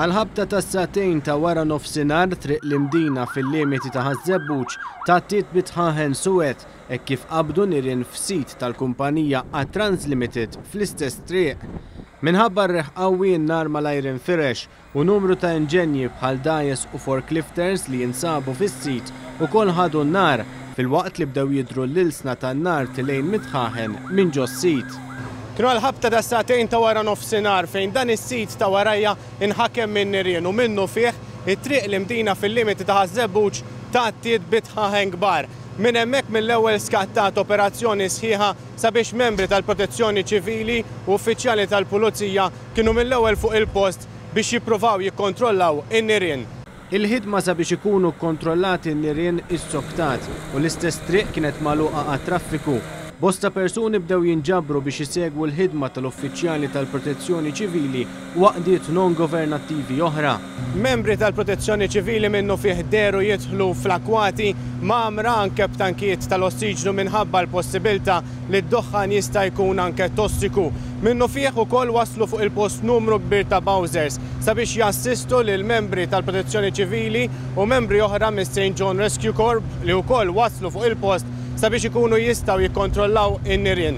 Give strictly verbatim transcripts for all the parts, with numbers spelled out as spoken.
Għal-ħabta tas-sagħtejn ta' wara nofsinhar, Triq l-Imdina fil-limiti ta' Ħaż-Żebbuġ tgħattiet bi dħaħen suwed hekk kif qabdu nirien f'sit tal-kumpanija Atrans Limited fl-istess triq. Minħabba r-riħ qawwi, n-nar malajr infirex u numru ta' inġenji bħal dgħajjes u forklifters li jinsabu fis-sit ukoll ħadu n-nar, filwaqt li bdew jidhru l-ilsna tan-nar tilgħin mid-dħaħen minn ġos-sit. Kienu għal-ħabta ta' sagħtejn ta' wara nofsinhar fejn dan is-sit ta' warajja inħakem minn nirien u minnufih it-Triq l-Imdina fil-limiti ta' Ħaż-Żebbuġ tgħattiet bi dħaħen kbar. Minn hemmhekk mill-ewwel skattat operazzjoni sħiħa sabiex membri tal-Protezzjoni Ċivili u uffiċjali tal-Pulizija kienu mill-ewwel fuq il-post biex jippruvaw jikkontrollaw in-nirien. Il-ħidma sabiex ikunu kontrollati n-nirien issoktat u l-istess triq kienet magħluqa għat-traffiku. Bosta persuni bdew jinġabru biex isegwu l-ħidma tal-uffiċjali tal-Protezzjoni Ċivili u għaqdiet non-governattivi oħra. Membri tal-Protezzjoni Ċivili minnufih dehru jidħlu fl-akwati mgħammra anke b'tankijiet tal-ossiġnu minħabba l-possibilità li d-duħħan jista' jkun anke tossiku. Minnufih ukoll waslu fuq il-post numru kbir ta' bowsers sabiex jassistu lil membri tal-Protezzjoni Ċivili u membri oħra mis Saint John Rescue Corps li wkoll waslu fuq il-post sabiex ikunu jistgħu jikkontrollaw in-nirien.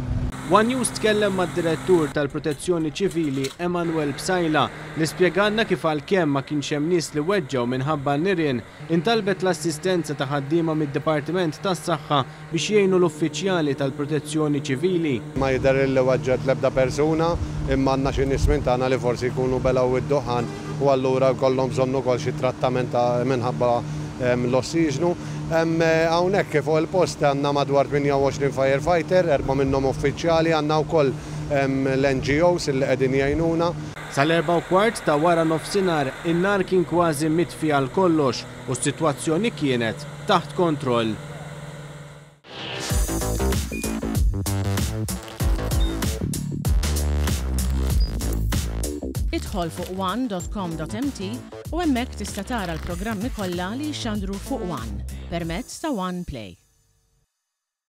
One News tkellem mad-direttur tal-Protezzjoni Ċivili Emanuel Psaila li spjegalna kif għalkemm ma kienx hemm nies li weġġew minħabba n-nirien, intalbet l-assistenza ta' ħaddiema mid-Dipartiment tas-Saħħa biex jgħinu l-uffiċjali tal-Protezzjoni Ċivili. Ma jidher li weġġgħet l-ebda persuna, imma għandna xi nies minn tagħna li forsi jkunu belgħu id-duħan u allura jkollhom bżonn ukoll xi trattament minħabba l-ossiġnu. Hawnhekk fuq il-post għandna madwar tmienja u għoxrin firefighter, erba' minnhom uffiċjali, għandna wkoll l-N G Os li qegħdin jgħinuna. Sal-erba' u kwart ta' wara nofsinhar in-nar kien kważi mitfi għal kollox u s-sitwazzjoni kienet taħt kontroll. Idħol fuq one dot com dot M T u hemmhekk tista' tara l-programmi kollha li jxandru fuq One permezz ta' One Play.